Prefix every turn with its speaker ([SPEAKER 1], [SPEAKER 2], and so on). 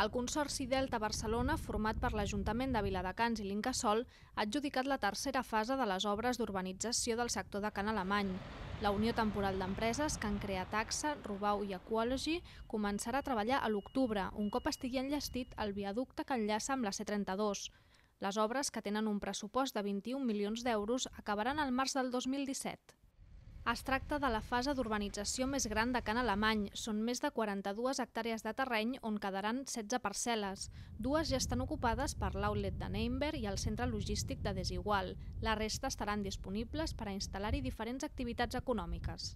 [SPEAKER 1] El Consorci Delta Barcelona, format per l'Ajuntament de Viladecans i l'Incasòl, ha adjudicat la tercera fase de les obres d'urbanització del sector de Can Alemany. La Unió Temporal d'Empreses, Can Creataxa, Rubau i Ecology començarà a treballar a l'octubre, un cop estigui enllestit el viaducte que enllaça amb la C32. Les obres, que tenen un pressupost de 21 milions d'euros, acabaran al març del 2017. Es tracta de la fase d'urbanització més gran de Can Alemany. Són més de 42 hectàrees de terreny on quedaran 16 parcel·les. Dues ja estan ocupades per l'outlet de Neinber i el centre logístic de Desigual. La resta estaran disponibles per a instal·lar-hi diferents activitats econòmiques.